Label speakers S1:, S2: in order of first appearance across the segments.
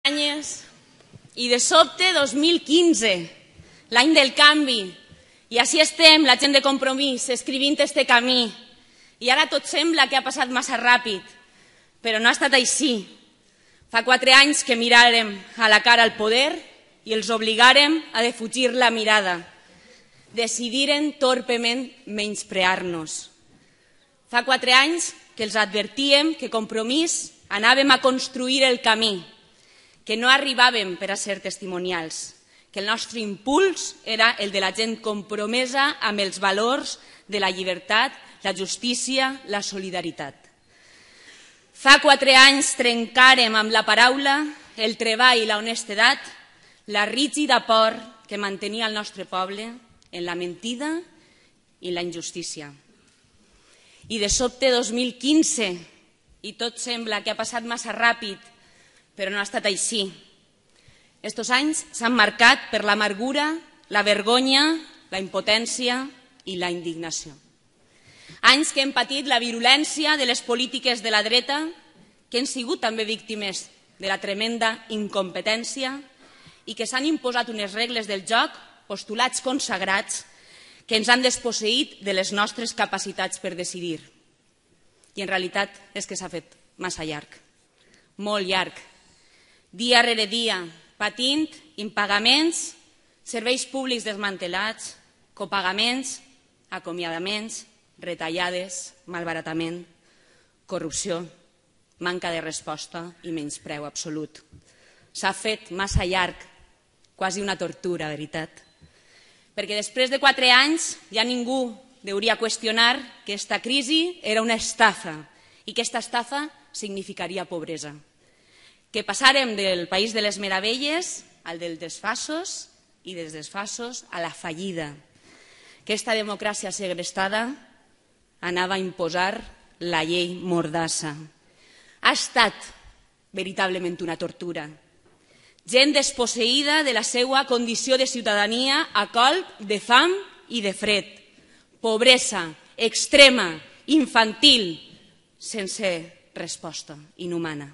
S1: anys i de sobte 2015, l'any del canvi, i així estem, la gent de Compromís, escrivint este camí. I ara tot sembla que ha passat massa ràpid, però no ha estat així. Fa 4 anys que miràrem a la cara al poder i els obligàrem a defugir la mirada. Decidiren torpement menysprear-nos. Fa 4 anys que els advertíem que Compromís anàvem a construir el camí, que no arribàvem per a ser testimonials, que el nostre impuls era el de la gent compromesa amb els valors de la llibertat, la justícia, la solidaritat. Fa 4 anys trencàrem amb la paraula, el treball i la honestedat, la rígida por que mantenia el nostre poble en la mentida i la injustícia. I de sobte 2015, i tot sembla que ha passat massa ràpid, però no ha estat així. Estos anys s'han marcat per l'amargura, la vergonya, la impotència i la indignació. Anys que hem patit la virulència de les polítiques de la dreta, que han sigut també víctimes de la tremenda incompetència i que s'han imposat unes regles del joc, postulats consagrats, que ens han desposseït de les nostres capacitats per decidir. I en realitat és que s'ha fet massa llarg, molt llarg. Dia rere dia, patint impagaments, serveis públics desmantelats, copagaments, acomiadaments, retallades, malbaratament, corrupció, manca de resposta i menyspreu absolut. S'ha fet massa llarg, quasi una tortura, veritat. Perquè després de 4 anys ja ningú hauria qüestionar que aquesta crisi era una estafa i que aquesta estafa significaria pobresa. Que passàrem del país de les meravelles al dels desfassos i dels desfassos a la fallida. Que aquesta democràcia segrestada anava a imposar la llei mordassa. Ha estat veritablement una tortura. Gent desposseïda de la seva condició de ciutadania a colp de fam i de fred. Pobresa extrema, infantil, sense resposta, inhumana.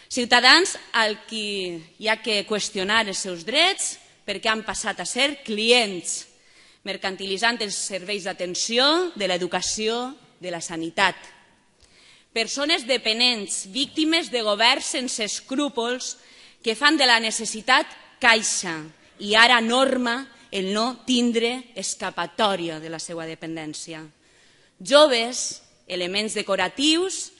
S1: Ciutadans al qui hi ha que qüestionar els seus drets perquè han passat a ser clients, mercantilitzant els serveis d'atenció, de l'educació, de la sanitat. Persones dependents, víctimes de governs sense escrúpols que fan de la necessitat caixa i ara norma el no tindre escapatòria de la seva dependència. Joves, elements decoratius,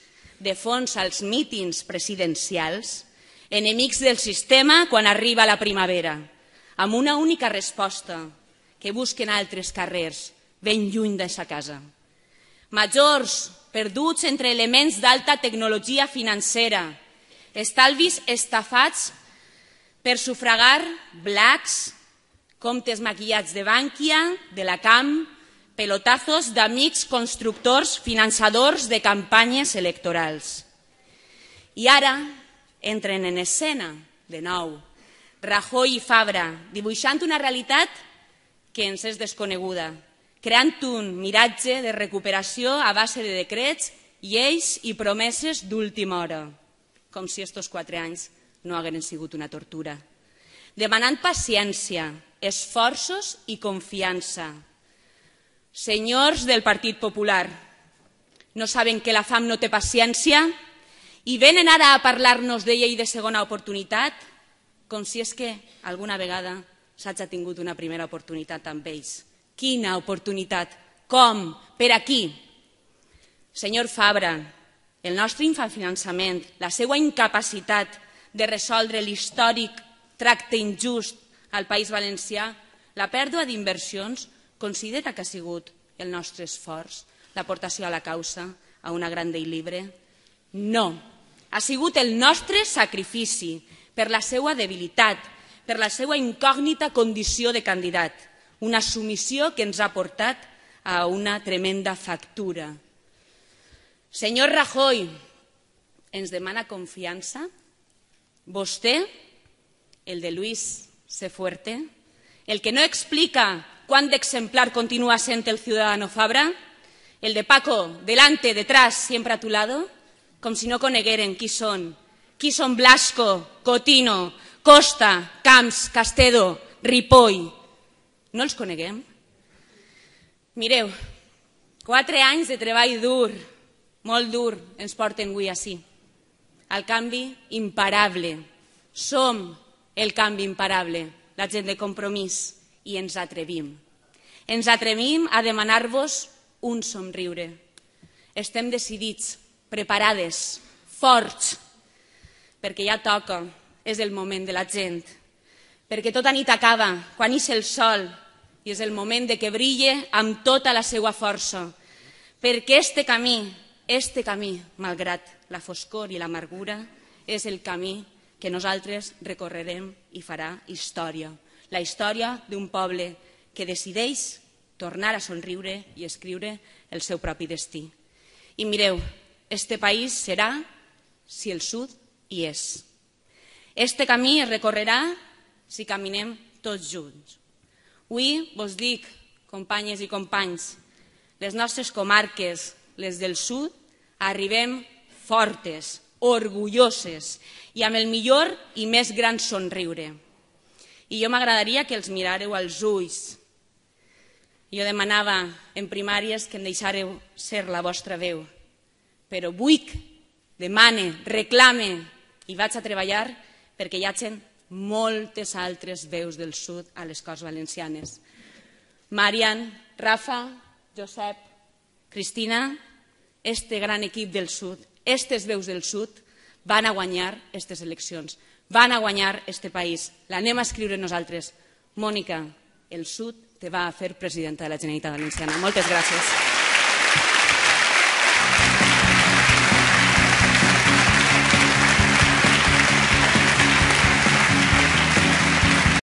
S1: de fons als mítings presidencials, enemics del sistema quan arriba la primavera, amb una única resposta, que busquen altres carrers, ben lluny de sa casa. Majors, perduts entre elements d'alta tecnologia financera, estalvis estafats per sufragar blacks, comptes maquillats de Bànquia, de la Camp, pelotazos d'amics constructors finançadors de campanyes electorals. I ara entren en escena, de nou, Rajoy i Fabra, dibuixant una realitat que ens és desconeguda, creant un miratge de recuperació a base de decrets, lleis i promeses d'última hora, com si estos 4 anys no hagueren sigut una tortura. Demanant paciència, esforços i confiança. Senyors del Partit Popular, no saben que la fam no té paciència i venen ara a parlar-nos de llei de segona oportunitat, com si és que alguna vegada s'hagi tingut una primera oportunitat amb ells. Quina oportunitat? Com? Per a qui? Senyor Fabra, el nostre infrafinançament, la seva incapacitat de resoldre l'històric tracte injust al País Valencià, la pèrdua d'inversions, considera que ha sigut el nostre esforç, l'aportació a la causa, a una gran llei llibre? No, ha sigut el nostre sacrifici per la seva debilitat, per la seva incògnita condició de candidat, una submissió que ens ha portat a una tremenda factura. Senyor Rajoy, ens demana confiança? Vostè, el de Luis C. Fuerte, el que no explica cuán de exemplar continúa sent el ciudadano Fabra, el de Paco, delante, detrás, siempre a tu lado, com si no conegueren qui són qui són Blasco, Cotino, Costa, Camps, Castedo, Ripoll. No els coneguem? Mireu, 4 anys de treball dur, molt dur, ens porten avui ací. El canvi imparable. Som el canvi imparable, la gent de Compromís, i ens atrevim. Ens atrevim a demanar-vos un somriure. Estem decidits, preparades, forts, perquè ja toca, és el moment de la gent, perquè tota nit acaba, quan ix el sol, i és el moment de que brille amb tota la seva força, perquè este camí, malgrat la foscor i l'amargura, és el camí que nosaltres recorrerem i farà història. La història d'un poble que decideix tornar a somriure i escriure el seu propi destí. I mireu, este país serà si el sud hi és. Este camí es recorrerà si caminem tots junts. Avui vos dic, companyes i companys, les nostres comarques, les del sud, arribem fortes, orgulloses i amb el millor i més gran somriure. I jo m'agradaria que els miràreu als ulls. Jo demanava en primàries que em deixàreu ser la vostra veu, però vull, demane, reclame i vaig a treballar perquè hi hagin moltes altres veus del sud a les Corts Valencianes. Marian, Rafa, Josep, Cristina, este gran equip del sud, aquestes veus del sud, van a guanyar aquestes eleccions, van a guanyar este país. L'anem a escriure nosaltres. Mònica, el sud te va a fer presidenta de la Generalitat Valenciana. Moltes gràcies.